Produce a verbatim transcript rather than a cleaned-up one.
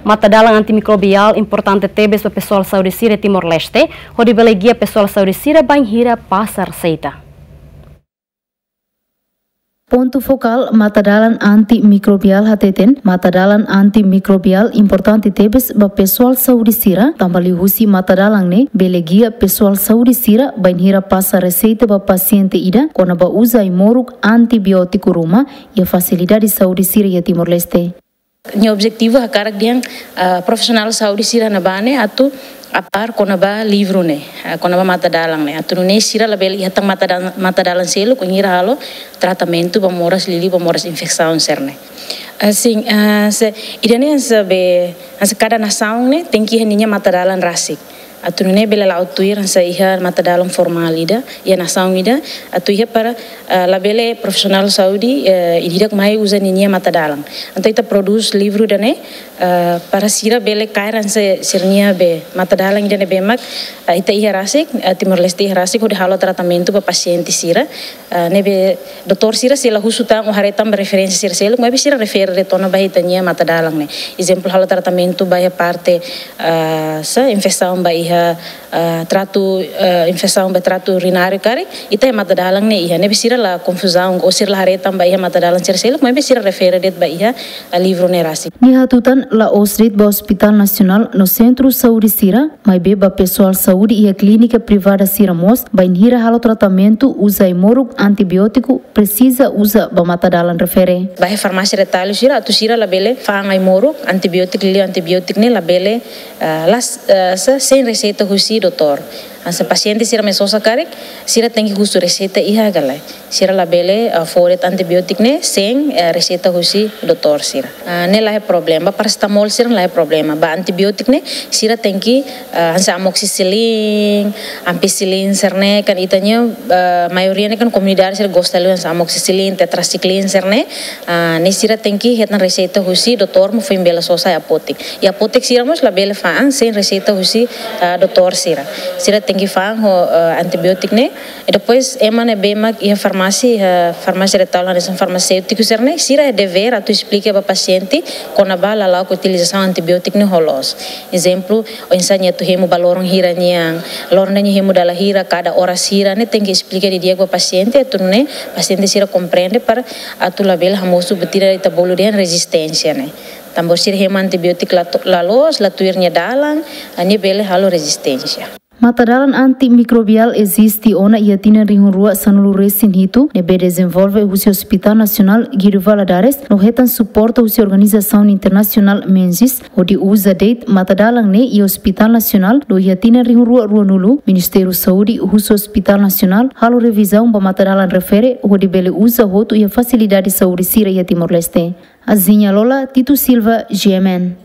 Matadalan antimikrobiál importante tebes ba pesoál saúde sira Timor-Leste, hodi bele gia pesoál saúde sira bainhira pasa reseita. Pontu fokál matadalan antimikrobiál hateten, matadalan antimikrobiál importante tebes ba pesoál saúde sira, tanba liuhusi matadalan ne'e bele gia pesoál saúde sira bainhira pasa reseita ba pasiente ida kona-ba uza ai-moruk antibiótiku ruma iha fasilidade saúde sira iha Timor-Leste. Nia objetivu hakarak dehan, ah, profisionál saúde sira ne'ebá ne'e atu a par kona-ba livru ne'e, ah, kona-ba matadalan ne'e. Atu nune'e sira labele iha tan matadalan, matadalan seluk bainhira halo tratamentu ba moras liuliu ba moras infesaun sira-ne'e. Ah, sin, ah, se, ida-ne'e hanesan be, hanesan kada nasaun ne'e tenke iha ninia matadalan rasik. Atu nune'e bele la'o tuir hanesan iha matadalan formál ida, iha nasaun ida, atu iha para, ah, labele profisionál saúde, eh, ida-idak mai uza ninia matadalan. Entaun ita prodús livru ida-ne'e, ah, para sira bele kaer hanesan sira-nia be matadalan ida ne'ebé mak, ah, ita iha rasik, ah, Timor-Leste iha rasik, hodi halo tratamentu ba pasiente sira, ah, ne'ebé doutór sira sei la husu tan ou haree tan ba referénsia sira seluk, maibé sira refere de'it ona ba ita-nia matadalan ne'e. Ezemplu, halo tratamentu ba iha parte, ah, sá, infesaun ba iha, ah, tratu, ah, infesaun ba tratu urináriu karik, ita iha matadalan ne'e iha, ne'ebé sira la konfuzaun, ou sira la haree tan ba iha matadalan sira seluk, maibé sira refere de'it ba iha, ah, livru ne'e rasik. Nia hatutan la'ós de'it ba Hospitál Nasionál no sentru saúde sira, maibé ba pesoál saúde iha klínika privada sira mós, bainhira halo tratamentu uza ai-moruk antibiótiku, presiza uza ba matadalan refere. Ba iha farmásia retallu sira, atu sira labele fa'an ai-moruk antibiótiku, liuliu antibiótiku ne'e labele, ah, las, ah, se-, sein reseita husi doutór. Hanesan pasiente sira mai sosa karik, sira tenke husu reseita iha ka lae. Sira labele, ah, fó de'it antibiótiku ne'e sein, eh, reseita husi doutór sira. Ah, ne'e la iha problema, parasetamol sira la iha problema. Ba antibiótiku ne'e, sira tenke, ah, hanesan amoxicilin, ampicilin sira-ne'e kan ita-nia, ah, maioria ne'e kan komunidade sira gosta liu hanesan amoxicilin, tetracycline sira-ne'e, ah, ne'e sira tenke hetan reseita husi doutór mak foin bele sosa iha apóteka. Iha apóteka sira mós labele fa'an sein reseita husi, ah, doutór sira. Sira tenke fa'an ho, ah, antibiótiku ne'e, i depois, ema ne'ebé mak iha farmásia, iha farmásia retallu hanesan farmaséutiku sira-ne'e, sira iha devér atu esplika ba pasiente kona-ba lala'ok utilizasaun antibiótiku ne'e ho loos. Ezemplu, oinsá nia atu hemu ba loron hira nian, loron ida nia hemu dala hira, kada oras hira, ne'e tenke esplika didi'ak ba pasiente, atu nune'e pasiente sira komprende para atu labele hamosu buat ida ita bolu dehan rezisténsia ne'e. Tanba sira hemu antibiótiku la to-, la loos, la tuir nia dalan, nia bele halo rezisténsia. Matadalan antimikrobiál eziste ona iha tinan rihun rua sanulu resin hitu, ne'ebé dezenvolve husi Hospitál Nasionál Guido Valadares, no hetan suporta husi organizasaun internasionál Menzies, hodi uza de'it matadalan ne'e iha Hospitál Nasionál, no iha tinan rihun rua ruanulu, Ministériu Saúde husu Hospitál Nasionál halo revizaun ba matadalan refere, hodi bele uza hotu iha fasilidade saúde sira iha Timor-Leste. Azinha Lola, Tito Silva, G M N.